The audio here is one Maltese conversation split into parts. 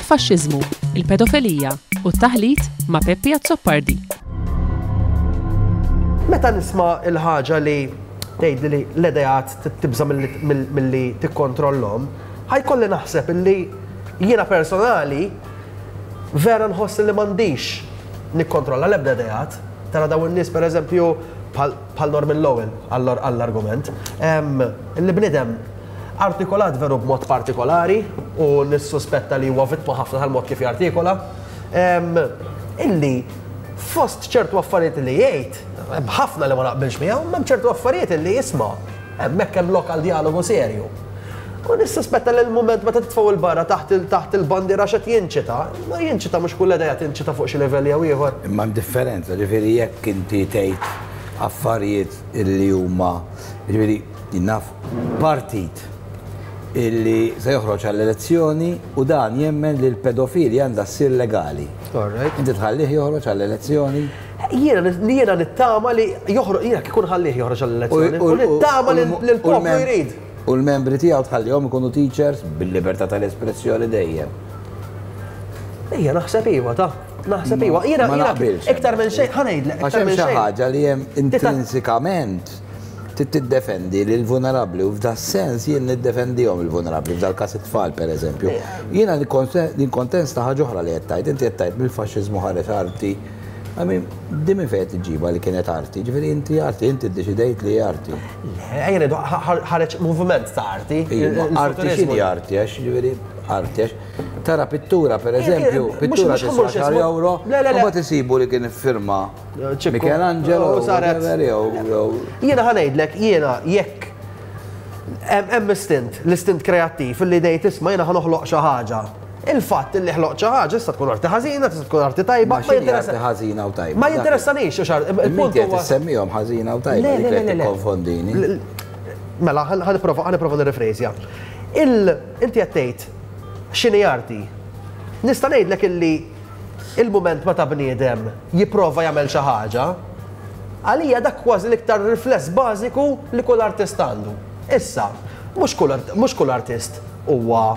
Il-faxxiżmu, il-pedofilija u t-taħlit ma' Peppi Azzopardi. Meta nisma' l-ħaġa li tgħidli li l-ideat tibża' milli tikkontrollhom, ħa jkolli naħseb illi jiena personali vera nħoss li m'għandix nikkontrolla l-ebda ideat. Tara dawn in-nies pereżempju bħal Norman Lowell għall-argument, li bniedem artikolat veru b'mod partikolari u nissuspetta li huwa vittma ħafna tal-mod kif jartikola, illi fost ċertu affarijiet li jgħid, hemm ħafna li ma naqbilx miegħu, imma hemm ċertu affarijiet illi isma' hemmhekk hemm lok għal djalogu serju. U nissuspetta li l-mument meta titfgħu 'l barra taħt taħt il-bandiera x'qed jinċita, ma jinċita mhux kull idea tinċita fuq xi livell jew ieħor. Imma hemm differenza, ġifieri jekk inti tgħid affarijiet illi huma, ġifieri jien naf partit illi se joħroġ għall-elezzjoni u dan jemmen li l-pedofilja għandha ssir legali. Inti tħallih joħroġ għall-elezzjoni? Jiena jiena nittama li joħroġ, jiena kieku nħallih joħroġ għall-elezzjoni, u nittama li l-poplu jrid. U l-membri tiegħu tħallihom ikunu teachers bil-libertà tal-espressjoni dejjem. Ejja, naħseb iva, ta' naħseb iva. Jiena iktar minn xejn, ħa ngħidlek. Għax hemm xi ħaġa li hemm intrinsikament trid tiddefendi lill-vulnerabbli u f'das-sens jien niddefendihom il-vulnerabbli, f'dal-każ it-tfal pereżempju. Jiena nikkontesta ħaġa oħra li qed tgħid, inti qed tgħid mill-faxxiżmu ħareġ arti. I mean, di minn fejn qed iġġibha li kienet arti? Ġifieri inti arti, inti ddeċidejt li hi arti. Le, ejja ngħidu ħareġ moviment ta' arti. Arti x'inhi arti għax ġifieri arti għax tara pittura pereżempju, pittura tiswa xar euro, u mbagħad isibu li kien iffirma Michelangelo u saret. Jiena ħa ngħidlek, jiena jekk hemm istint, l-istint kreattiv li ngħid isma' jiena ħa noħloq xi ħaġa. Il-fatt li ħloqt xi ħaġa tista' tkun arti ħażina, tista' tkun arti tajba. Ma x'inhi arti ħażina u tajba? Ma jinteressanix xi art. Il-punt huwa semmihom ħażina u tajba li qed tikkonfondini. Mela, ħa nipprova ħa nipprova nirrifrejżja. Il inti qed tgħid x'inhi arti. Nista' ngħidlek illi il-mument meta bniedem jipprova jagħmel xi ħaġa, għalija dak kważi l-iktar rifless bażiku li kull artist għandu. Issa, mhux kull artist huwa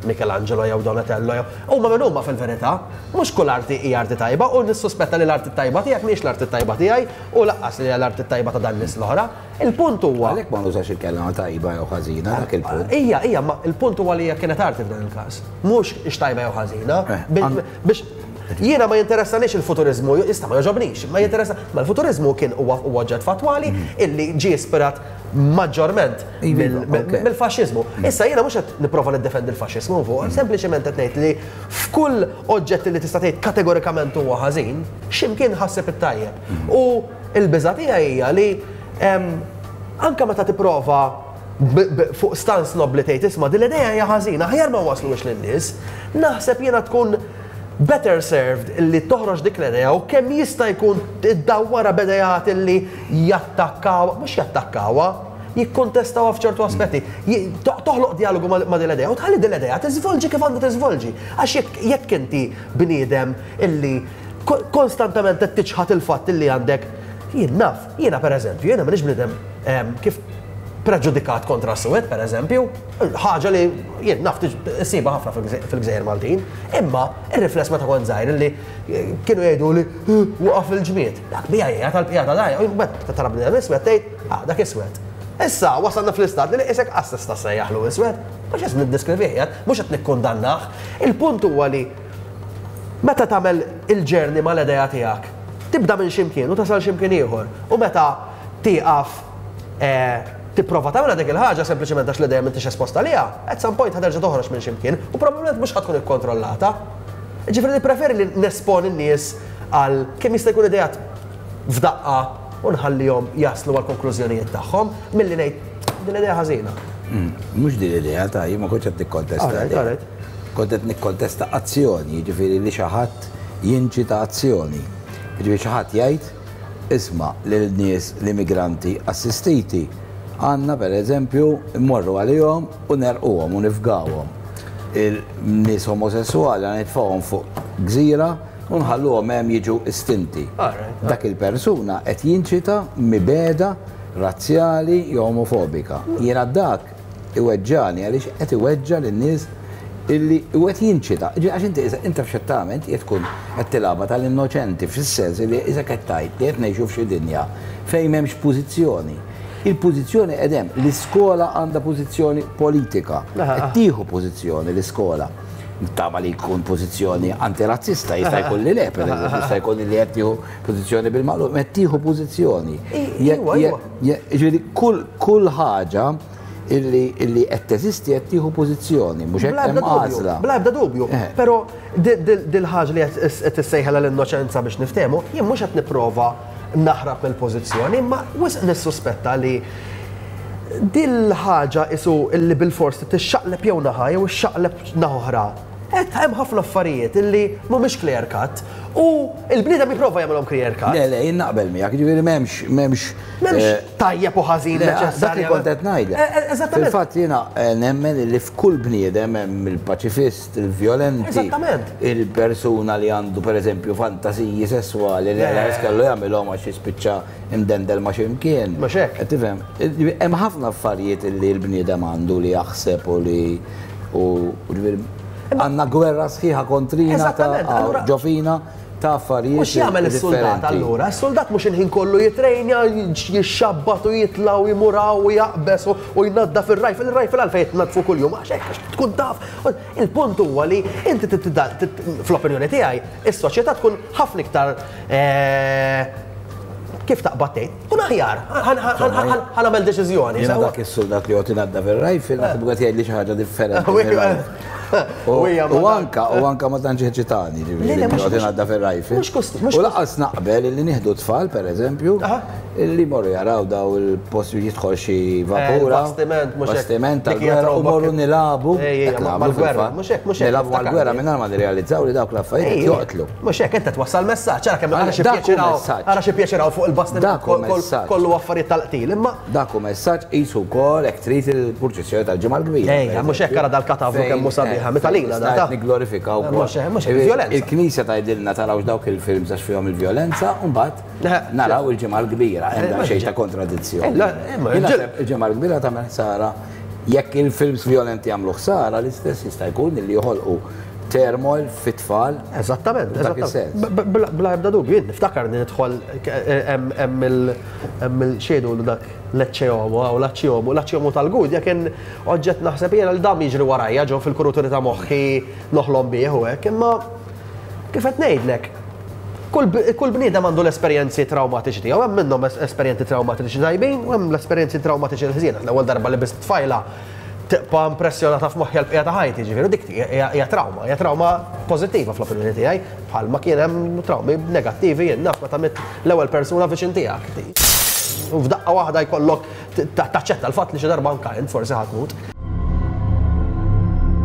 Michelangelo jew Donatello jew huma min huma fil-verità. Mhux kull arti hi arti tajba u nissuspetta li l-arti t-tajba tiegħek mhijiex l-arti t-tajba tiegħi u lanqas li hija l-arti t-tajba ta' dan nies l-oħra. Il-punt huwa. Għalhekk ma nużax il-kelma tajba jew ħażina, dak il-punt. Hija, hija, ma il-punt huwa li hija kienet arti f'dan il-każ. Mhux hix tajba jew ħażina. Biex jiena ma jinteressanix il-futuriżmu, jista' ma jogħġobnix, ma jinteressa, ma l-futuriżmu kien huwa oġġett fattwali illi ġie ispirat maġġorment mill-faxxiżmu. Issa jiena mhux qed nipprova niddefendi l-faxxiżmu fuq, sempliċement qed ngħid li f'kull oġġett li tista' tgħid kategorikament huwa ħażin, x'imkien ħasseb it-tajjeb. U l-biża' tiegħi hija li anke meta tipprova fuq stance nobbli tgħid isma' din l-idea hija ħażina, aħjar ma nwassluhiex lin-nies, naħseb jiena tkun better served li toħroġ dik l-idea u kemm jista' jkun iddawwarha b'ideat li jattakkawha, mhux jattakkawha, jikkontestawha f'ċertu aspetti. Toħloq djalogu ma' din l-idea u tħalli din l-idea tiżvolġi kif għandha tiżvolġi. Għax jekk jekk inti bniedem illi konstantament qed tiċħad il-fatt illi għandek jien naf, jiena pereżempju, jiena m'iniex bniedem kif preġudikat kontra s-suwed pereżempju, ħaġa li jien naf issibha ħafna fil-gżejjer Maltin, imma ir-rifless meta kont żgħir illi kienu jgħidu li waqaf il-ġmied. Dak bija hija tal-bqija ta' dajja, u meta tara bniedem iswed tgħid, ah dak iswed. Issa wasalna fl-istat li qisek qas tista' ssejjaħlu iswed, mhux qed niddeskrivih qiegħed, mhux qed nikkundannah. Il-punt huwa li meta tagħmel il-journey mal-idea tiegħek, tibda minn xi mkien u tasal xi mkien ieħor. U meta tieqaf tipprova tagħmilha dik il-ħaġa sempliċement għax l-idea m'intix esposta għaliha, at some point ħa terġa' toħroġ minn xi mkien u probabbilment mhux ħa tkun ikkontrollata. Jiġifieri nippreferi li nesponi n-nies għal kemm jista' jkun ideat f'daqqa u nħallihom jaslu għall-konklużjonijiet tagħhom milli ngħid din l-idea ħażina. Mhux din l-idea ta' jien ma kontx qed nikkontesta l-idea. Kont qed nikkontesta azzjoni, jiġifieri li xi ħadd jinċita azzjoni. Jiġifieri xi ħadd jgħid, isma' lil nies l-immigranti assistiti għandna pereżempju mmorru għalihom u negħrquhom u nifgawhom. Il-nies omosesswali għandna nitfgħuhom fuq gżira u nħalluhom hemm jiġu estinti. Dak il-persuna qed jinċita mibegħda razzjali jew omofobika. Jiena dak iweġġagħni għaliex qed iweġġa' lin-nies illi u qed jinċita. Għax inti inta f'xed tagħmel, inti qed tkun qed tilgħabha tal-innoċenti fis-sens li isek qed tgħid li qed ngħixu f'xi dinja fejn m'hemmx pożizzjoni. Il-pożizzjoni qed hemm, l-iskola għandha pożizzjoni politika, qed tieħu pożizzjoni l-iskola. Nittama li jkun pożizzjoni antirazzista, jista' jkun li le, per eżempju, jista' jkun li qed tieħu pożizzjoni bil-maqlub, qed tieħu pożizzjoni. Ġifieri kull ħaġa illi qed teżisti qed tieħu pożizzjoni, mhux hekk hemm għażla. Bla ebda dubju. Eh. Però dil-ħaġa li qed tissejħela l-innoċenza biex niftehmu, jien mhux qed nipprova naħrab mill-pożizzjoni, imma wisq nissuspetta li dil-ħaġa isu illi bil-fors tixxaqleb jew naħa jew ixxaqleb naħa oħra. Qed hemm ħafna affarijiet illi mhumiex clear cut u l-bniedem jipprova jagħmilhom clear cut. Le, le, jien naqbel miegħek, jiġifieri m'hemmx m'hemmx M'hemmx eh, tajjeb u ħażin neċessarju. Dak li kont qed ngħidlek. Eh, eh, eżattament. Fil-fatt jiena nemmen li f'kull bniedem hemm il-paċifist, il-vjolenti. Eżattament. Il-persuna li għandu pereżempju fantasiji sesswali li għal kellu jagħmilhom għax jispiċċa imdendel ma' x'imkien. Mhux hekk. Tifhem, hemm ħafna affarijiet li l-bniedem għandu li jaħseb u li u għandna gwerra sħiħa kontrina ta' ġofina ta' affarijiet. U x'jagħmel is-suldat allura? Is-suldat mhux il-ħin kollu jitrejnja, jixxabbat u jitla' u jmur hawn u jaqbeż u jnaddaf ir-rifle. Ir-rifle għalfejn jitnaddfu kuljum? Għax hekk għax tkun taf. Il-punt huwa li inti fl-opinjoni tiegħi, is-soċjetà tkun ħafna iktar eh, kif taqbad tgħid, kun aħjar, ħa nagħmel deċiżjoni. Jiena dak is-suldat li joqgħod inaddaf ir-rifle naħseb qed jgħidli xi ħaġa differenti. U anka, u anka ma tantx eċitani, ġifieri, joqgħod inaddaf ir-rifle. U laqas naqbel li nieħdu tfal, pereżempju, li morru jaraw daw il-post jidħol xi eh, vapura. Bastiment, mhux Bastiment tal-gwerra u morru nilagħbu. Mal-gwerra, mhux hekk, mhux hekk. Nilagħbu mal-gwerra mingħajr ma nirrealizzaw li dawk l-affarijiet joqtlu. Mhux hekk, inti twassal messaġġ, ara kemm ara xi pjaċiraw, ara xi pjaċiraw fuq il-bastiment kollu affarijiet tal-qtil, imma. Dak hu messaġġ qisu wkoll hekk trid il-purċissjoni tal-Ġimgħa l-Kbira. Ejja, mhux hekk ara dal-katavru kemm hu sabiħa, mitalina da. Qed nigglorifikaw ukoll. Mhux hekk, mhux hekk, vjolenza. Il-Knisja tgħidilna tarawx dawk il-films għax fihom il-vjolenza, u mbagħad naraw il-Ġimgħa l-Kbira, hemm daqsxejn ta' kontradizzjoni. Il-Ġimgħa l-Kbira tagħmel ħsara jekk il-films vjolenti jagħmlu ħsara, l-istess jista' jkun li joħolqu turmoil fit-tfal. Eżattament, eżattament. Bla ebda dubju, jien niftakar li nidħol hemm il-xejdu dak l-Ecce Homo u l-Acci Homo, l-Acci Homo tal-Gudja kien oġġett naħseb jiena li dam jiġri warajja ġo fil-kuruturi ta' moħħi noħlom bih u hekk, imma kif qed ngħidlek, kull bniedem għandu l-esperjenzi trawmatiċi tiegħu, hemm minnhom esperjenzi trawmatiċi tajbin u hemm l-esperjenzi trawmatiċi l-ħżiena. L-ewwel darba li bist tfajla tibqa' impressjonata f'moħħi għall-bqija ta' ħajti, ġifieri dik hija trawma, hija trawma pożittiva fl-opinjoni tiegħi, bħalma kien hemm trawmi negattivi jien naf meta mitt l-ewwel persuna viċin tiegħek. U f'daqqa waħda jkollok taċċetta l-fatt li xi darba anke int forsi ħa tmut.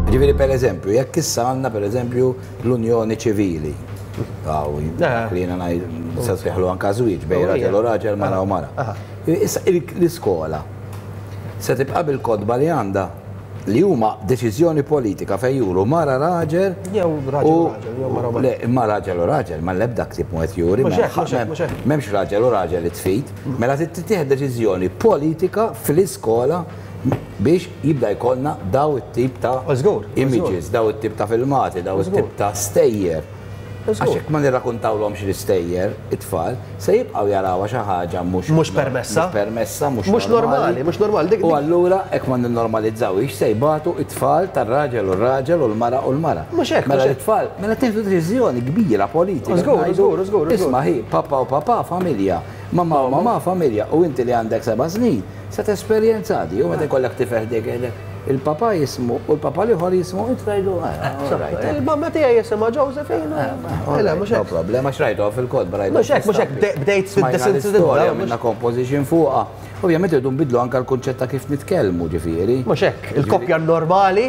Ġifieri pereżempju, jekk issa għandna pereżempju l-unjoni ċivili, eh. li jiena ngħid se sejħlu anke żwieġ bejn raġel u raġel, mara u mara. Issa l-iskola Se tibqa' bil-kotba li għandha, li huma deċiżjoni politika fejn juru mara raġel Jew raġel u raġel, jew mara u mara. Le, imma raġel u raġel, ma l-ebda ktieb mhu qed juri. Mhux hekk, mhux hekk, mhux hekk. M'hemmx raġel u raġel li tfid. Mela trid tittieħed deċiżjoni politika fl-iskola biex jibda jkollna daw it-tip ta' images, daw it-tip ta' filmati, daw it-tip ta' stejjer. Għax jekk ma nirrakuntawlhomx l-istejjer, it-tfal, se jibqgħu jarawha xi ħaġa mhux Mhux permessa. Mhux permessa, mhux Mhux normali, mhux normali. Dik U allura hekk ma nnormalizzawhiex se jbatu t-tfal tar-raġel u r-raġel u l-mara u l-mara. Mhux hekk, Mela l-tfal, mela tieħdu deċiżjoni kbira politika. Żgur, żgur, żgur. Isma' hi, papa u papà familja, mamà u mamà familja u inti li għandek seba' snin se tesperjenza di u meta jkollek tifel ħdejk jgħidlek Il-papa jismu u l-papa l-ieħor jismu inti tgħidlu eh, Il-mamma tiegħi jisimha Josephine. Eh, mhux hekk. Problema x'rajtu fil-kotba rajtu. Mhux hekk, mhux hekk bdejt fid-desensitizza. Minna composition fuqha. Ovvjament irridu nbidlu anke l-kunċett ta' kif nitkellmu ġifieri. Mhux hekk, il-koppja normali.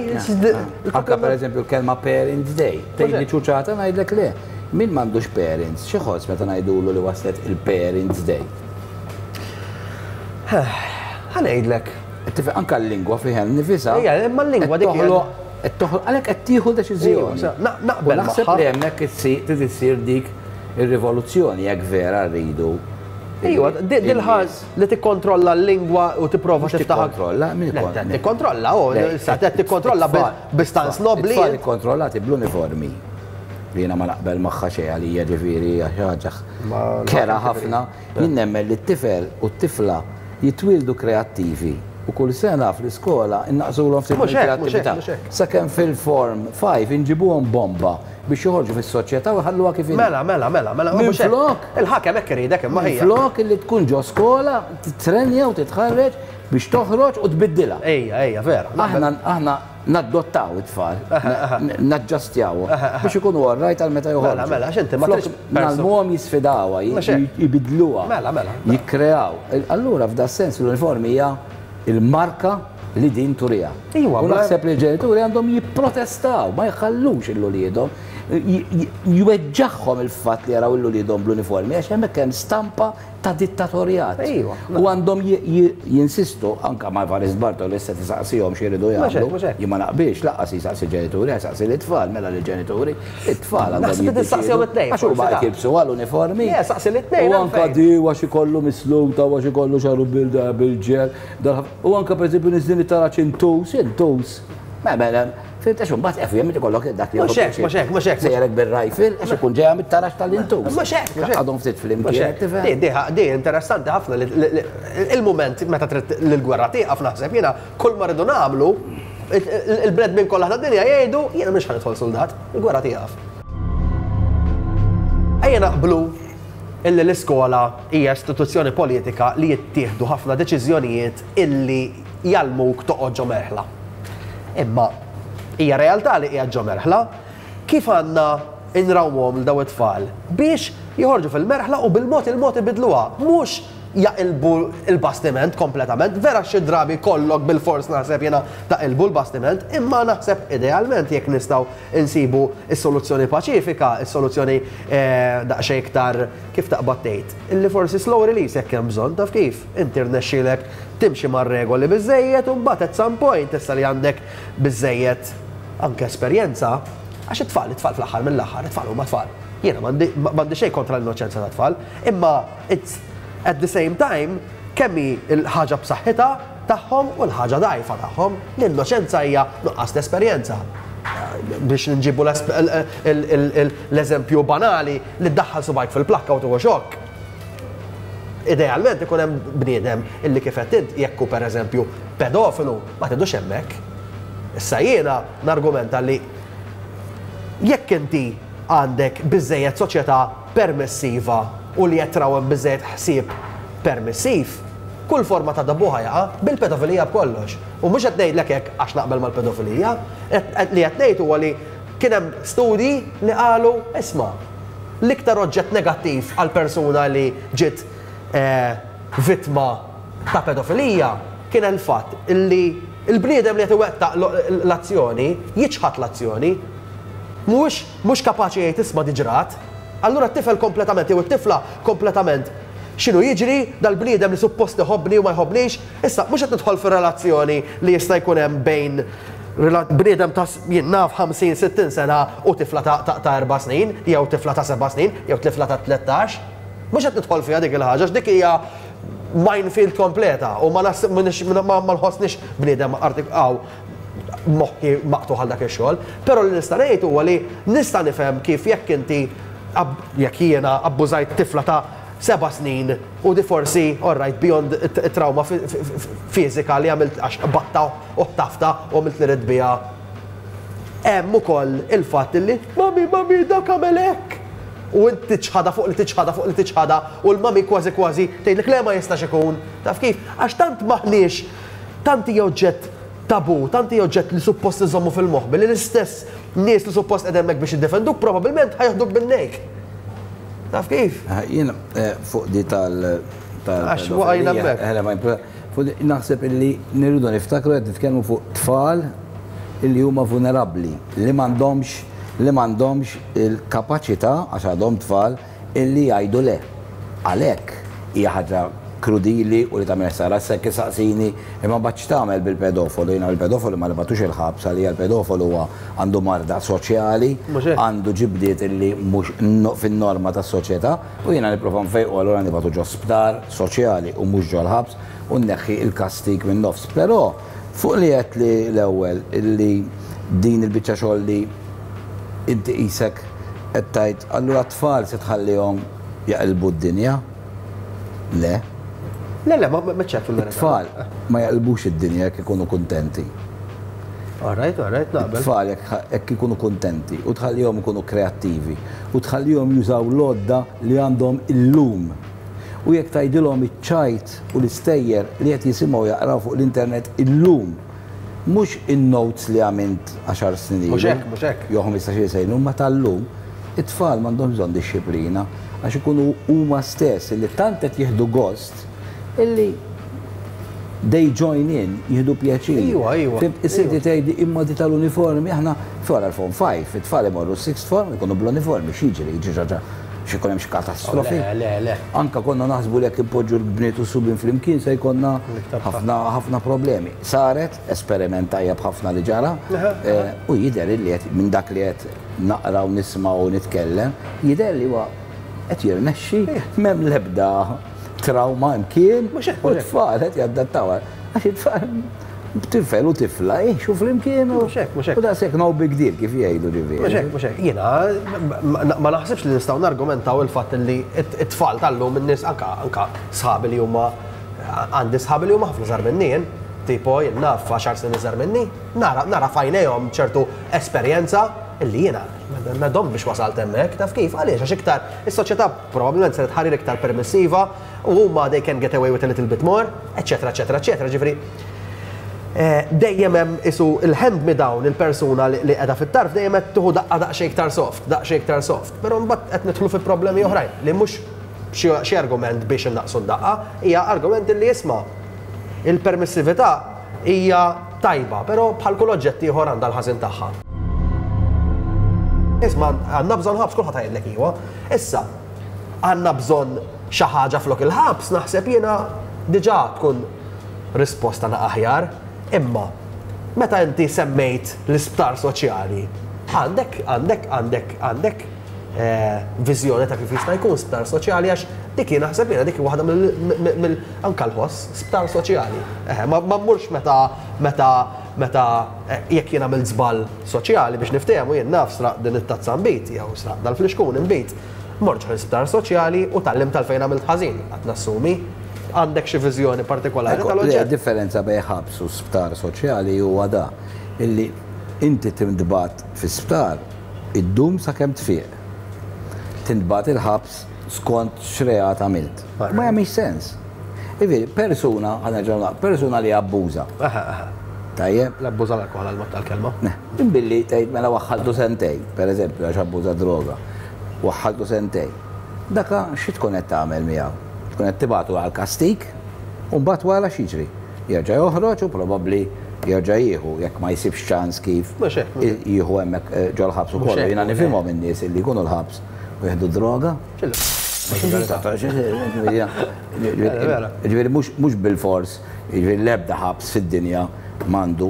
Anke pereżempju l-kelma Parents Day. Tgħidli ċuċata ngħidlek le. Min m'għandux parents, xi ħoss meta ngħidulu li waslet il-Parents Day? Ħa ngħidlek. Tifhem anke l-lingwa fiha nnifisha. Ejja, imma l-lingwa dik toħloq qed toħloq għalhekk qed tieħu deċiżjoni. Naqbel Naħseb li hemmhekk trid issir dik ir-rivoluzzjoni jekk vera rridu Iwa, dil-ħaż li tikkontrolla l-lingwa u tipprova tiftaħ. Tikkontrolla, min Tikkontrolla, u sa tikkontrolla bi stance nobbli. Tfal ikkontrollati bl-uniformi. Li jiena ma naqbel magħha xejn għalija ġifieri ħaġa kerha ħafna. Jien nemmen li t-tifel u t-tifla jitwieldu kreattivi u kull sena fl-iskola innaqsulhom ftit mill-kreattività. Sakemm fil-form 5 inġibuhom bomba biex joħorġu fis-soċjetà u jħalluha kif inhi. Mela, mela, mela, mela. Minflok. Il-ħakem hekk iridek imma ħija. Minflok illi tkun ġo skola, titrenja u titħarreġ biex toħroġ u tbiddilha. Ejja, ejja, vera. Aħna aħna naddottaw it-tfal, naġġastjawhom biex ikunu all right għal meta joħorġu. Mela, mela, għax inti ma tridx. Ngħallmuhom jisfidawha, jbiddluha. Mela, mela. Jikkreaw. Allura f'da sens l-uniformi hija il-marka li din turiha. Iwa, U naħseb li l-ġenituri għandhom jipprotestaw, ma jħallux 'l uliedhom, jweġġagħhom il-fatt li jaraw 'l uliedhom bl-uniformi għax hemmhekk hemm stampa ta' dittatorjat. Iwa. U għandhom jinsistu, anka ma' Evarist Bartolo issa tisaqsihom x'iridu jagħmlu. Jien ma naqbilx, lanqas jisaqsi ġenituri, jsaqsi lit-tfal, mela lill-ġenituri, it-tfal għandhom Naħseb li tistaqsihom it-tnejn. Għax huma qed jilbsu għall-uniformi. Le, saqsi lit-tnejn. U anka di għax ikollu misluta, għax ikollu xagħru bil-ġel. U anka pereżempju niżlin it-taraġ intus, intus. Mela, fhimt għax imbagħad ovvjament ikollok dak li Mhux hekk, mhux hekk, mhux hekk. Sejjerek bir-rifle għax ikun ġejja mit-taraġ tal-intus. Mhux hekk, mhux hekk. Għadhom ftit flimkien, tifhem? Di, di, di interessanti ħafna li il-mument meta trid li l-gwerra tieqaf naħseb jiena kull ma rridu nagħmlu il-bnedmin kollha tad-dinja jgħidu jiena mhux ħa nidħol suldat, il-gwerra tieqaf. Ejja naqblu illi l-iskola hija istituzzjoni politika li jittieħdu ħafna deċiżjonijiet illi jgħallmuk toqgħod ġo merħla. Imma hija realtà li qiegħed ġo merħla, kif għandna nrawmuhom lil dawn it-tfal biex joħorġu fil-merħla u bil-mod il-mod ibidluha, mhux jaqilbu l-bastiment kompletament, vera xi drabi jkollok bilfors naħseb jiena taqilbu l-bastiment, imma naħseb idealment jekk nistgħu insibu s-soluzzjoni paċifika, is-soluzzjoni daqsxejn iktar, kif taqbad tgħid, illi forsi slow release jekk hemm bżonn, taf kif, inti rnexxielek timxi mar-regoli biżżejjed u mbagħad at some point issa li għandek biżżejjed anke esperjenza, għax it-tfal, it-tfal fl-aħħar mill-aħħar, it-tfal huma tfal. Jiena m'għandi m'għandi xejn kontra l-innoċenza tat-tfal, imma it's at the same time kemm hi l-ħaġa b'saħħitha tagħhom u l-ħaġa dgħajfa tagħhom. L-innoċenza hija nuqqas ta' esperjenza. Biex nġibu l-eżempju banali li ddaħħal subgħajk fil-plakka u tieħu xokk. Idealment ikun hemm bniedem illi kif għedt int jekk hu pereżempju pedofilu ma tgħidux hemmhekk. Issa jiena nargumenta li jekk inti għandek biżżejjed soċjetà permissiva u li qed trawwem biżżejjed ħsieb permissiv, kull forma ta' tabù ħa jaqa', bil-pedofilija b'kollox. U mhux qed ngħidlek hekk għax naqbel mal-pedofilija, li qed ngħid huwa li kien hemm studji li qalu isma' l-iktar oġġett negattiv għal persuna li ġiet vittma ta' pedofilija kien il-fatt li l-bniedem li qed iwettaq l-azzjoni jiċħad l-azzjoni. Mhuwiex mhux kapaċi jgħid isma' di ġrat. Allura t-tifel kompletament jew it-tifla kompletament x'inhu jiġri, dal-bniedem li suppost iħobbni u ma jħobbnix, issa mhux qed nidħol fir-relazzjoni li jista' jkun hemm bejn bniedem ta' jien naf 50, 60 sena u tifla ta' erba' snin, jew tifla ta' seba' snin, jew tifla ta' 13. Mhux qed nidħol fiha dik il-ħaġa għax dik hija minefield kompleta u ma nħossnix bniedem moħħi maqtugħ għal dak ix-xogħol, però li nista' ngħid huwa li nista' nifhem kif jekk inti jekk jiena abbużajt tifla ta' seba' snin u di forsi, all right, beyond it-trawma fiżika li għamilt għax qbadtha u ħtaftha u għamilt li ridt biha, hemm ukoll il-fatt li mummy, mummy, dak għamel hekk! U int tiċħadha fuq li tiċħadha fuq li tiċħadha u l-mummy kważi kważi tgħidlek le ma jistax ikun, taf kif? Għax tant m'aħniex, tant hija oġġett tabù, tant hija oġġett li suppost iżommu fil-moħbi li l-istess nies li suppost qegħdin hemmhekk biex jiddefenduk probabbilment ħa jeħduk bin-nejk. Taf kif? Jien fuq di tal Għax waqajna hemmhekk. Naħseb illi nirridu niftakru qed nitkellmu fuq tfal illi huma vulnerabbli, li m'għandhomx li m'għandhomx il-kapaċità għax għadhom tfal illi jgħidu le. Għalhekk hija ħaġa krudili u li tagħmel ħsara. Issa jekk issaqsini imma mbagħad x'tagħmel bil-pedofolu? Jiena bil-pedofolu ma nibgħatux il-ħabs għalija l-pedofolu huwa għandu marda soċjali, għandu ġibdiet illi mhux fin-norma tas-soċjetà u jiena nipprova nfejqu allura nibgħatu ġo sptar soċjali u mhux ġol-ħabs u nneħħi l-kastig min-nofs. Però fuq li għedt li l-ewwel illi din il-biċċa xogħol li inti qisek qed tgħid allura t-tfal se tħallihom jaqilbu d-dinja? Le. Le, le, ma ċert fil-verità. It-tfal ma jaqilbux id-dinja jekk ikunu kuntenti. All right, all right, naqbel. It-tfal jekk ikunu kuntenti u tħallihom ikunu kreattivi u tħallihom jużaw l-għodda li għandhom illum. U jekk tgħidilhom iċ-ċajt u l-istejjer li qed jisimgħu jaqraw fuq l-internet illum, mhux in-notes li għamilt għaxar snin ilu. Mhux hekk, mhux hekk. Jew 15-il sena ilu, imma tal-lum, it-tfal m'għandhomx bżonn dixxiplina għax ikunu huma stess illi tant qed jieħdu gost illi they join in, jieħdu pjaċir. Iwa, iwa. Fhimt? Issa inti tgħidli imma di tal-uniformi aħna wara l-Form 5, it-tfal imorru s-sixth form ikunu bl-uniformi, x'jiġri? Jiġri xi ħaġa, xi jkun hemm xi katastrofi? Le, le, le. Anke konna naħsbu li jekk inpoġġu l-bniet u s-subien flimkien se jkollna ħafna ħafna problemi. Saret, esperiment tajjeb ħafna li ġara, u jidher illi qed minn dak li qed naqra u nisma' u nitkellem, jidher li huwa qed jirnexxi, m'hemm l-ebda trawma imkien, u t-tfal qed jadattaw għax it-tfal tifel u tifla jgħixu flimkien u u daqshekk no big deal kif jgħidu ġifieri. Mhux hekk, mhux hekk. Jiena ma naħsibx li nistgħu nargumentaw il-fatt li t-tfal tal-lum in-nies anka anka sħabi li huma għandi sħabi li huma ħafna żgħar minni jien, tipo jien naf għaxar snin iżgħar minni, nara nara f'għajnejhom ċertu esperjenza illi jiena ma domt biex wasalt hemmhekk, taf kif? Għaliex? Għax iktar is-soċjetà probabbilment saret ħarir iktar permissiva u huma they can get away with a little bit more, eċċetera, eċċetera, eċċetera. Ġifieri dejjem hemm isu il-hand me down il-persuna li qiegħda fit-tarf dejjem qed tieħu daqqa daqsxejn iktar soft, daqsxejn iktar soft. Però mbagħad qed nidħlu fi problemi oħrajn li mhux xi argument biex innaqqsu d-daqqa, hija argument li isma' il-permissività hija tajba, però bħal kull oġġett ieħor għandha l-ħażin tagħha. Isma' għandna bżonn ħabs kulħadd jgħidlek iwa. Issa, għandna bżonn xi ħaġa flok il-ħabs naħseb jiena diġà tkun risposta na aħjar, imma meta inti semmejt l-isptar soċjali, għandek, għandek, għandek, għandek viżjoni ta' kif jista' jkun sptar soċjali għax dik jien naħseb jiena dik waħda mill anka l-ħoss sptar soċjali. Ma mmurx meta meta meta jekk jien għamilt żball soċjali biex niftehmu jien naf sraq din it-tazza nbid jew sraq dal-flixkun inbid. Mort ġo l-isptar soċjali u tgħallimt għalfejn għamilt ħażin, qed nassumi. Għandek xi viżjoni partikolari tal-oġġett? Id-differenza bejn ħabs u sptar soċjali huwa da, illi inti tintbagħat fi sptar iddum sakemm tfieq. Tintbagħat il-ħabs skont x'reat għamilt. Ma jagħmilx sens. Jiġifieri, persuna, ħa nerġgħu naqra, persuna li abbuża. Tajjeb? L-abbuża l-alkoħol għall-mod tal-kelma. Billi tgħid mela waħħaltu sentejn, pereżempju għax abbuża droga, waħħaltu sentejn. Daka xi tkun qed tagħmel miegħu? Tkun qed tibgħatu għal kastig u mbagħad wara x'jiġri? Jerġa' joħroġ u probabbli jerġa' jieħu jekk ma jsibx ċans kif jieħu hemmhekk ġol-ħabs ukoll. Jiena nifhimhom in-nies illi jkunu l-ħabs u jieħdu d-droga. Ġifieri mhux bilfors, jiġifieri l-ebda ħabs fid-dinja m'għandu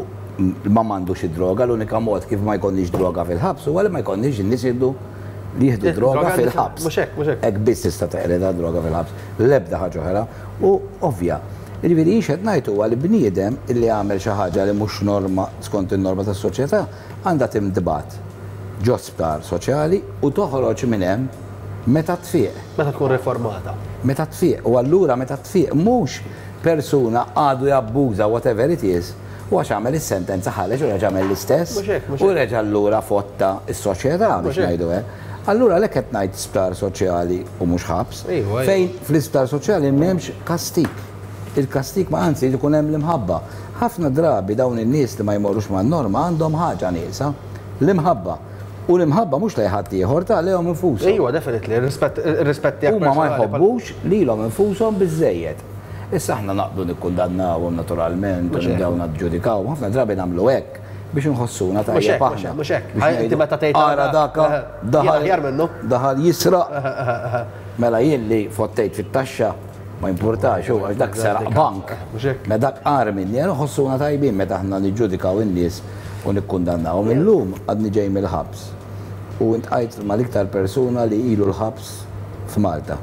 ma m'għandux id-droga, l-unika mod kif ma jkollniex droga fil-ħabs huwa li ma jkollniex in-nies jieħdu li jieħdu droga fil-ħabs. Mhux hekk, mhux hekk. Hekk biss tista' teqrida d-droga fil-ħabs, l-ebda ħaġa oħra u ovvja. Jiġifieri jien x'qed ngħid huwa li bniedem illi għamel xi ħaġa li mhux norma skont in-norma tas-soċjetà għandha tintbagħat ġo sptar soċjali u toħroġ minn hemm meta tfieq. Meta tkun riformata. Meta tfieq. U allura meta tfieq mhux persuna għadu jabbuża whatever it is u għax għamel is-sentenza ħareġ u reġa' għamel l-istess Mhux hekk, mhux u hekk. reġa' allura fotta s-soċjetà biex Mhux hekk. ngħidu hekk. Allura għalhekk qed ngħid sptar soċjali u mhux ħabs. Ejwa, ejwa. Fejn fl-isptar soċjali m'hemmx kastig. Il-kastig ma anzi jrid ikun hemm l-imħabba. Ħafna drabi dawn in-nies li ma jmorrux man-norma għandhom ħaġa nieqsa, l-imħabba. U l-imħabba mhux lejn ħaddieħor, ta' lejhom infushom. Ejwa, definitely, ir-rispett ir-rispett tiegħek Huma ma personali bħal. jħobbux lilhom infushom biżżejjed. Issa aħna naqbdu nikkundannawhom naturalment u nibdew naġġudikawhom, ħafna drabi nagħmlu hekk biex inħossuna tajjeb aħna. Mhux hekk, mhux hekk. Inti meta tgħid ara daka daħal aħjar minnu. Daħal jisraq. Mela jien li fottejt fit-taxxa Ma jimpurtax, hu għax dak seraq bank. Mela dak agħar minni, għal nħossuna tajbin meta aħna niġġudikaw in-nies u nikkundannawhom. Illum għadni ġej mill-ħabs u intqajt mal-iktar persuna li ilu l-ħabs f'Malta.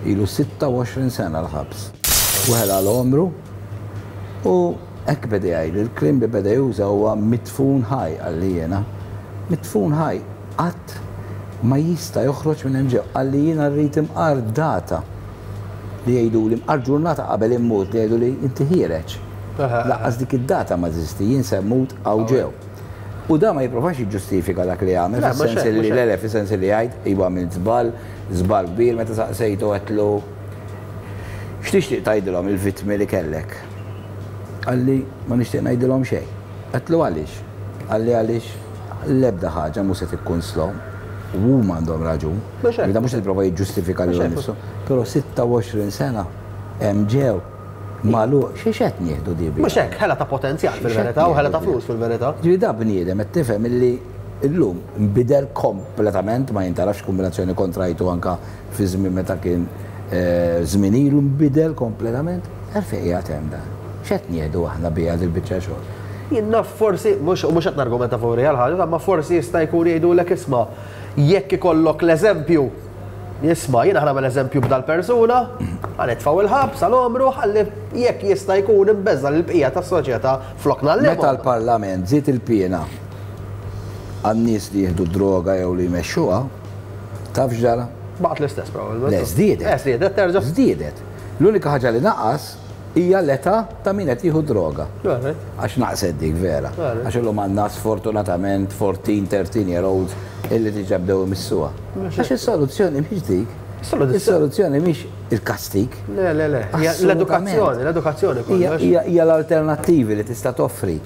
Ilu 26 sena l-ħabs. U ħela għal għomru u hekk beda jgħidli, il-kliem li beda juża huwa midfun ħaj qalli jiena. Midfun ħaj, qatt ma jista' joħroġ minn hemm ġew. Qalli jiena rrid imqar data li jgħiduli mqar ġurnata qabel immut li jgħiduli inti ħiereġ. Lanqas dik id-data ma teżisti, jien se mmut hawn ġew. U da ma jipprovax jiġġustifika dak li għamel, fis-sens li le le, fis-sens li jgħid iva għamilt żball, żball kbir, meta saqsejtu għedtlu x'tixtieq tgħidilhom il-vittmi li kellek? Qalli ma nixtieq ngħidilhom xejn. Għedtlu għaliex? Qalli għaliex l-ebda ħaġa mhu se tikkunslhom u huma għandhom raġun. Da mhux qed jipprova jiġġustifika lilu nnifsu, però 26 sena hemm ġew magħluq xi x'qed nieħdu di biha? Mhux hekk, ħela ta' potenzjal fil-verità u ħela ta' flus fil-verità. Ġifieri da bniedem qed tifhem illi llum nbidel kompletament ma jintgħarafx kombinazzjoni kont rajtu anke fi żmien meta kien żmien ilu nbidel kompletament. Għalfejn qiegħed hemm dan? X'qed nieħdu aħna biha dil-biċċa xogħol? Jien naf forsi, mhux mhux qed nargumenta favuri għall-ħaġa, imma forsi jista' jkun jgħidulek isma' jekk ikollok l-eżempju, isma' jiena ħa nagħmel eżempju b'dal-persuna, ħa nitfgħu il-ħabs għal għomru ħalli jekk jista' jkun inbeżża' lill-bqija tas-soċjetà flok ngħallimhom. Meta l-Parlament żied il-piena għan-nies li jieħdu d-droga jew li jmexxuha, taf x'ġara? Baqgħet l-istess probabbilment. Le, żdiedet. Eh, żdiedet terġa'. Żdiedet. L-unika ħaġa li naqas hija l-età ta' min qed jieħu d-droga. Għax naqset dik vera. Għax illum għandna sfortunatament 14, 13 year olds illi diġà bdew imissuha. Għax is-soluzzjoni mhix dik. Is-soluzzjoni mhix il-kastig. Le, le, le. L-edukazzjoni, l-edukazzjoni kollox. Hija l-alternattivi li tista' toffri.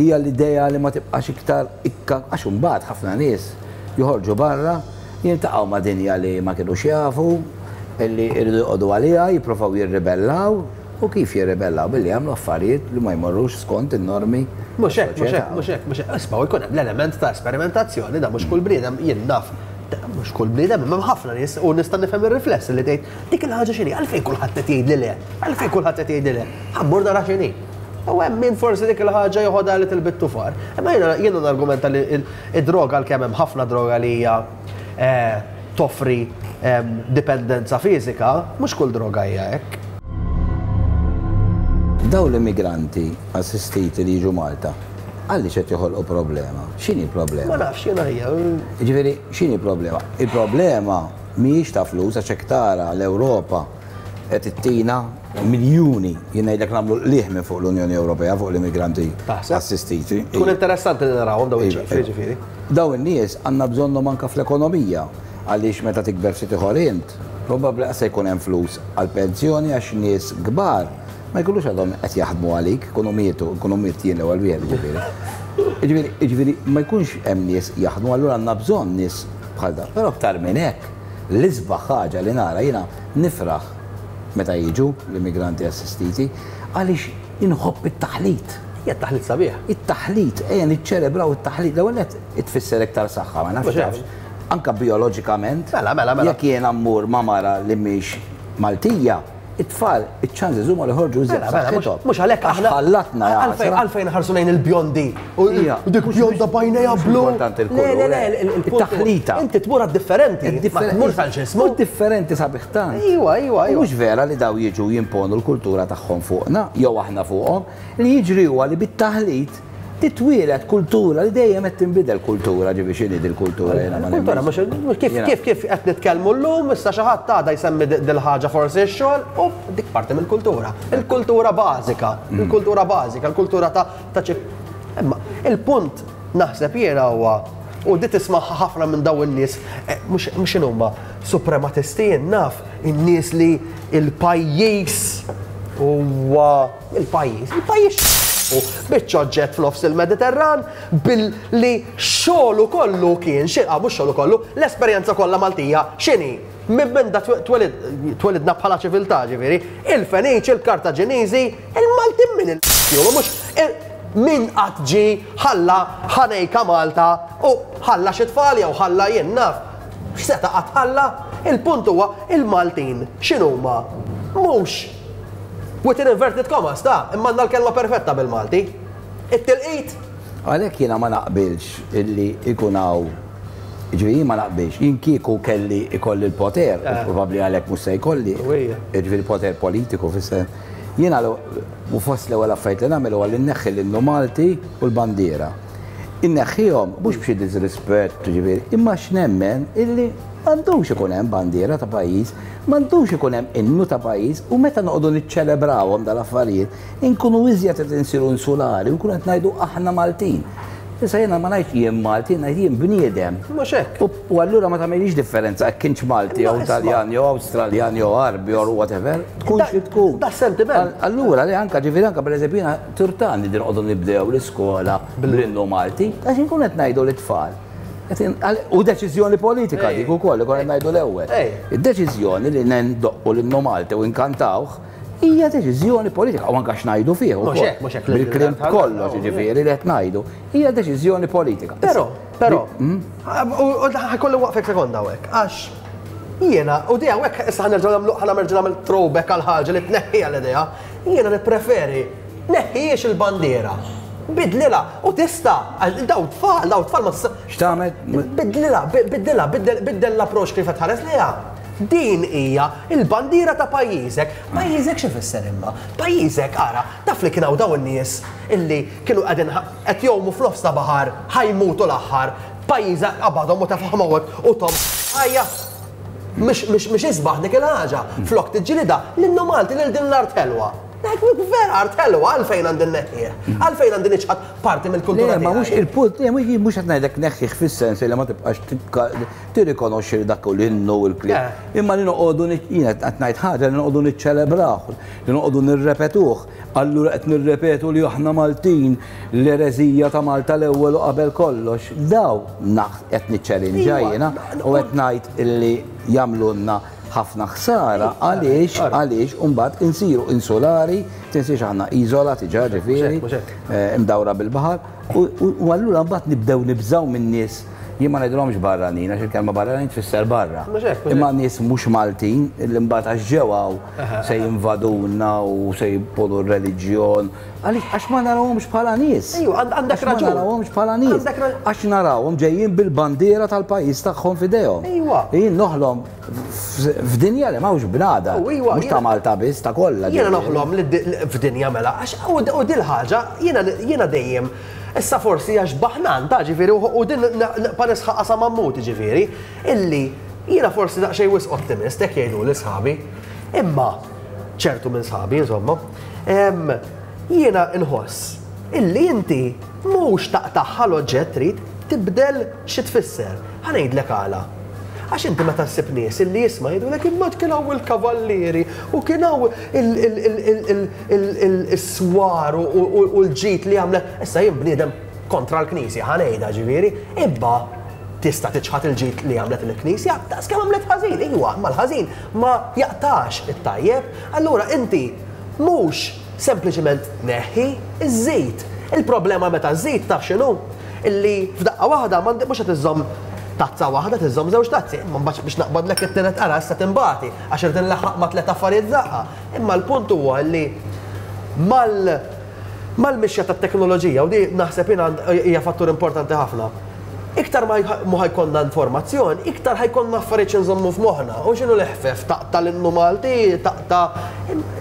Hija l-idea li ma tibqax iktar ikka għax imbagħad ħafna nies joħorġu barra Jiltaqgħu ma' dinja li ma kinux jafu, li jridu joqogħdu għaliha, jipprovaw jirribellaw, u kif jirribellaw? Billi jagħmlu affarijiet li ma jmorrux skont in-normi Mhux hekk, mhux hekk, mhux hekk, mhux hekk. Isma' u jkun hemm l-element ta' esperimentazzjoni, da mhux kull bniedem, jien naf, mhux kull bniedem, imma hemm ħafna nies u nista' nifhem ir-rifless li tgħid dik il-ħaġa x'inhi, għalfejn kulħadd qed jgħidli le, għalfejn kulħadd qed jgħidli le, ħa mmur nara x'inhi. U hemm min forsi dik il-ħaġa joħodha a little bit too far. Imma jiena jiena nargumenta li Id-droga għalkemm hemm ħafna droga li hija toffri dipendenza fiżika, mhux kull droga hija hekk. Dawn l-immigranti assistiti li jiġu Malta, għaliex qed joħolqu problema? X'inhi l-problema? Ma nafx jiena hija. Jiġifieri x'inhi l-problema? Il-problema mhijiex ta' flus għax hekk tara l-Ewropa qed ittina miljuni, jien ngħidlek nagħmlu l-qligħ minn fuq l-Unjoni Ewropea fuq l-immigranti assistiti. Tkun interessanti li narawhom dawn iċ-ċifri, iva, ġifieri. Dawn in-nies għandna bżonnhom anke fl-ekonomija għaliex meta tikber ftit ieħor int, probabbli qas se jkun hemm flus għall-pensjoni għax nies kbar ma jkunux għadhom qed jaħdmu għalik, ikunu mietu, ikunu miet jien l-ewwel wieħed jiġifieri. Jiġifieri, jiġifieri ma jkunx hemm nies jaħdmu, allura għandna bżonn nies bħal dawn. Però aktar minn hekk, L-isbaħ ħaġa li nara, jiena nifraħ meta jiġu l-immigranti assistiti, għaliex inħobb it-taħlit. Hija t-taħlit sabiħ. It-taħlit, ejja niċċelebraw it-taħlit. L-ewwel nett tfisser iktar saħħa, ma nafx tafx. Anke bijoloġikament. Mela, mela, mela. Jekk jiena mmur ma' mara li mhix Maltija, It-tfal, iċ-chances huma li joħorġu iżjed b'saħħithom. Mhux għalhekk aħna. Ħallatna ja. Għalfejn ħarsu lejn il-bjondi. U dik bjonda b'għajnejha blu. Importanti l-kulur. Le, le, le, it-taħlita. Inti tmur għad-differenti. Ma tmurx għal x'ismu. Differenti sabiħ tant. Iwa, iwa, iwa. Mhux vera li daw jiġu jimponu l-kultura tagħhom fuqna, jew aħna fuqhom. Li jiġri huwa li bit-taħlit Titwieled kultura li dejjem qed tinbidel kultura, ġifieri x'inhi dil-kultura jiena ma Kultura mhux kif kif kif qed nitkellmu llum, issa xi ħadd għada jsemmi dil-ħaġa forsi x-xogħol, u dik parti mill-kultura. Il-kultura bażika, il-kultura bażika, il-kultura ta' ta' Imma il-punt naħseb jiena huwa u di tismagħha ħafna minn dawn in-nies mhux x'inhuma suprematisti jien naf in-nies li l-pajjiż huwa Il-pajjiż, il-pajjiż u biċċa oġġett f'nofs il-Mediterran billi xogħlu kollu kien xi, ah mhux xogħlu kollu, l-esperjenza kollha Maltija x'inhi? Minn menda twelidna bħala ċiviltà ġifieri, il-Feniċi, il-Kartaġiniżi, il-Maltin min il mhux min qatt ġie ħalla ħanejka Malta u ħalla xi tfal jew ħalla jien naf x'seta' qatt ħalla? Il-punt huwa il-Maltin x'inhuma? Mhux within inverted commas ta' imma għandna l-kelma perfetta bil-Malti. It-tilqit. Għalhekk jiena ma naqbilx illi jkun hawn, jiġifieri jien ma naqbilx, jien kieku kelli ikolli l-poter, u probabbli għalhekk mhux se jkolli, jiġifieri poter politiku fis-sens, jiena u fost l-ewwel affarijiet li nagħmel huwa li nneħħi l-innu Malti u l-bandiera. Inneħħihom mhux b'xi disrispett, jiġifieri, imma għax nemmen illi m'għandux ikun hemm bandiera ta' pajjiż, m'għandux ikun hemm innu ta' pajjiż u meta noqogħdu niċċelebrawhom dal-affarijiet, Inkunu iżjed qed insiru insulari u nkunu qed ngħidu aħna Maltin. Issa jiena ma ngħidx jien Malti, jien ngħid jien bniedem. Mhux hekk. U allura ma tagħmilix differenza jekk kienx Malti jew Taljan jew Awstraljan jew Għarbi or whatever, tkun xi tkun. Da sentiment. Allura li anka ġifieri anka pereżempju jiena turtani li noqogħdu nibdew l-iskola bl-innu Malti għax inkunu qed ngħidu lit-tfal. U deċiżjoni politika dik ukoll li konna ngħidu l-ewwel. Id-deċiżjoni li ndoqqu l-innu Malti u nkantawh Hija deċiżjoni politika, u anke x'ngħidu fih ukoll. Mhux hekk, mhux hekk. Bil-kliem kollox, jiġifieri li qed ngħidu, hija deċiżjoni politika. Però, però, hmm? u ħajkolli waqfek sekonda hawnhekk, għax jiena, u di hawnhekk issa ħanerġgħu nagħmlu ħanerġgħu nagħmel throwback għal ħaġa li tneħħiha l-idea, jiena nippreferi neħħijiex il-bandiera. Bidlilha u tista' daw tfal, daw tfal ma tista' X'tagħmel? Bidlilha, bidlilha, biddel l-approċċ kif qed tħares lejha. Din hija l-bandiera ta' pajjiżek. Pajjiżek x'ifisser imma? Pajjiżek, ara, taf li kien hawn dawn in-nies illi kienu qegħdin qed jgħumu f'nofs ta' baħar, ħa jmutu l-aħħar, pajjiżek qabadhom u tefagħhom hawnhekk u thom ħajja. Mhix mhix mhix isbaħ dik il-ħaġa. Flok tiġġilidha, l-innu Malti lil din l-art ħelwa. Vera art ħelwa, għalfejn għandi nneħħih? Għalfejn għandi niċħad parti mill-kultura Le, ma mhux il-punt, le, mhux qed ngħidlek neħħih fis-sens li ma tibqax tirrikonoxxi li dak hu l-innu u l-kliem. Imma li noqogħdu jiena qed ngħid ħaġa li noqogħdu niċċelebrawh, li noqogħdu nirrepetuh. Allura qed nirrepetu li aħna Maltin, l-ereżija ta' Malta l-ewwel u qabel kollox. Daw qed niċċelinġa jiena u qed ngħid illi jagħmlulna ħafna ħsara għaliex għaliex imbagħad insiru insulari, tinsiex aħna iżola diġà ġifieri, imdawra bil-baħar, u allura mbagħad nibdew nibżgħu min-nies Jien ma ngħidilhomx barranin għax il-kelma barranin tfisser barra. Imma nies mhux Maltin li mbagħad għax ġew hawn se jinvaduna u se jimponu r-reliġjon. Għaliex għax ma narawhomx bħala nies. Ejju, għandek raġun. Ma narawhomx bħala nies. Għax narawhom ġejjin bil-bandiera tal-pajjiż tagħhom f'idejhom. Ejwa. Jien noħlom f'dinja li m'hawnx bnadar. Mhux ta' Malta biss, ta' kollha. Jiena noħlom f'dinja mela għax u dil-ħaġa jiena dejjem Issa forsi għax baħnan ta' ġifieri u din nibqa' nisħaqha sa ma mmut jiġifieri, illi jiena forsi daqsxejn wisq ottimist, hekk jgħiduli sħabi. Imma ċertu minn sħabi insomma, jiena nħoss illi inti mhux taqtagħha l-oġġett trid tibdel xi tfisser. Ħa ngħidlek għala. Għax inti meta ssib nies illi isma' jgħidulek imma kien hawn il-kavallieri u kien hawn is-swar u l-ġid li għamlet. Issa jien bniedem kontra l-Knisja, ħa ngħidha ġifieri, imma tista' tiċħad il-ġid li għamlet il-Knisja daqs kemm għamlet ħażin, iwa, imma l-ħażin ma jaqtax it-tajjeb. Allura inti mhux sempliċement tneħħi, iżżid. Il-problema meta żżid taf x'inhu? Illi f'daqqa waħda mhux qed iżżomm tazza waħda, tiżżomm żewġ tazzi. Imma mbagħad biex naqbadlek it-tielet qara issa tinbati għax irid inlaħħaq ma' tliet affarijiet f'daqqa. Imma l-punt huwa li mal mal-mixja tat-teknoloġija, u di naħseb jiena hija fattur importanti ħafna, iktar ma ħa jkollna informazzjoni, iktar ħa jkollna affarijiet xi nżommu f'moħħna. U x'inhu l-eħfef? Taqta' l-innu Malti, taqta'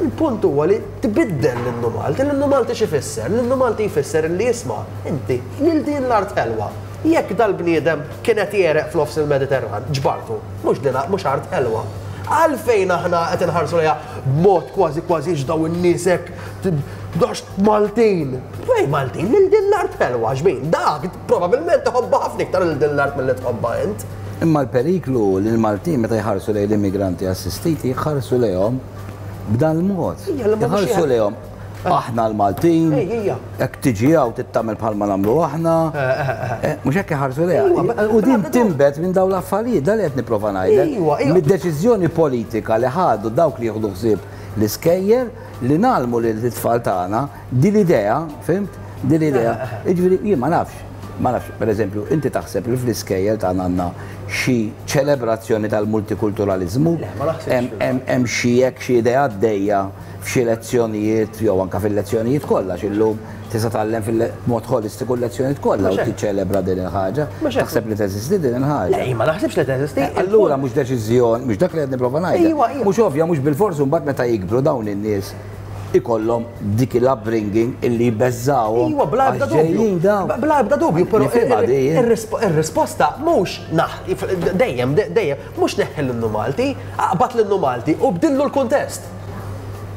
Il-punt huwa li tbiddel l-innu Malti. L-innu Malti x'ifisser? L-innu Malti jfisser li isma' inti lil din l-art ħelwa. Jekk dal-bniedem kien qed jegħreq f'nofs il-Mediterran, ġbartu. Mhux din mhux art ħelwa. Għalfejn aħna qed inħarsu lejha b'mod kważi kważi x'daw in-nies hekk għax Maltin. Fejn Maltin? Lil din l-art ħelwa x'bin. Dak probabilment iħobbha ħafna iktar lil din l-art milli tħobbha int. Imma l-periklu hu li l-Maltin meta jħarsu lejn l-immigranti assistiti jħarsu lejhom b'dan il-mod. Jħarsu lejhom aħna l-Maltin, hekk tiġi hawn trid tagħmel bħalma nagħmlu aħna. Mhux hekk iħarsu lejha. U din tinbet minn dawn l-affarijiet, dan li qed nipprova ngħidlek. Mid-deċiżjoni politika li ħadu dawk li jieħdu ħsieb l-iskejjel li ngħallmu lill-tfal tagħna din l-idea, fhimt? Din l-idea. Jiġifieri jien ma nafx. Ma nafx, pereżempju, inti taħseb li fl-iskejjel tagħna għandna xi ċelebrazzjoni tal-multikulturaliżmu? Le, ma naħsibx. Hemm xi hekk xi idea għaddejja f'xi lezzjonijiet jew anke fil-lezzjonijiet kollha għax illum tista' tgħallem b'mod ħolistiku l-lezzjonijiet kollha u tiċċelebra din il-ħaġa. Taħseb li teżisti din il-ħaġa? Le, jien ma naħsibx li teżisti. Allura mhux deċiżjoni, mhux dak li qed nipprova ngħidlek. Mhux ovvja, mhux bilfors imbagħad meta jikbru dawn in-nies ikollhom dik il-upbringing illi jbeżżgħuhom. Iwa, bla ebda dubju. Bla ebda dubju, però ir-risposta mhux naħ dejjem, dejjem, mhux neħħi l-innu Malti, aqbad l-innu Malti u bdillu l-kuntest.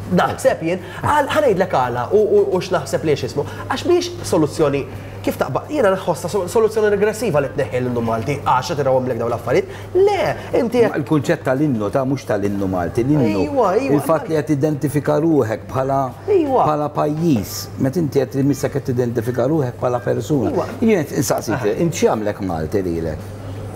Naħseb jien, ħa ngħidlek għala u x'naħseb li x'ismu, għax mhijiex soluzzjoni kif taqbad, jiena nħossha soluzzjoni regressiva li tneħħi l-innu Malti għax qed irawhomlek dawn l-affarijiet. Le, inti jekk. Il-kunċett tal-innu ta' mhux tal-innu Malti, l-innu. Ejwa, ejwa. Il-fatt li qed tidentifika ruħek bħala bħala pajjiż, meta inti qed imissek qed tidentifika ruħek bħala persuna. Jien qed insaqsik, int x'jagħmlek Malti lilek?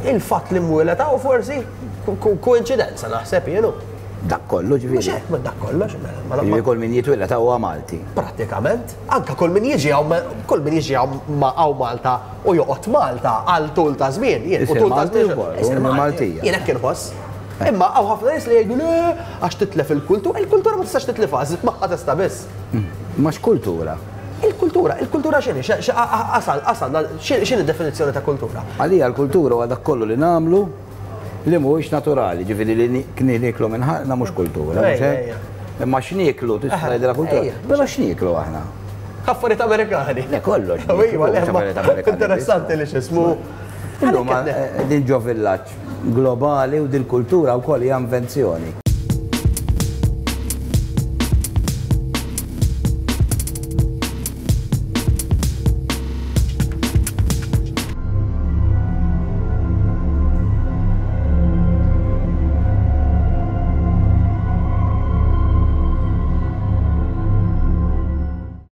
Il-fatt li mwieled hawn forsi, koinċidenza naħseb jien hu. Dak kollu ġifieri. Mhux hekk, dak kollox. Mela, ġifieri kull min jitwieled hawn huwa Malti. Prattikament, anke kull min jiġi hawn kull min jiġi hawn hawn Malta u joqgħod Malta għal tul ta' żmien, jien u tul ta' żmien. Isir Maltija. Jien hekk inħoss. Eh. Imma hawn ħafna nies li jgħidu le għax titlef il-kultura, il-kultura ma tistax titlifha, żid magħha tista' biss. Mm. Ma x'kultura? Il-kultura, il-kultura x'inhi? Asal, asal, x'inhi definizzjoni ta' kultura? Għalija l-kultura huwa dak kollu li nagħmlu Li mhuwiex naturali, ġifieri li nieklu minn ħalqna mhux kultura, mhux hekk? Imma x'nieklu tista' tgħidilha kultura. Però x'nieklu aħna? Affarijiet Amerikani. Le kollox. Iva, le, interessanti li x'ismu. Illum din ġo villaġġ globali u dil-kultura wkoll hija invenzjoni.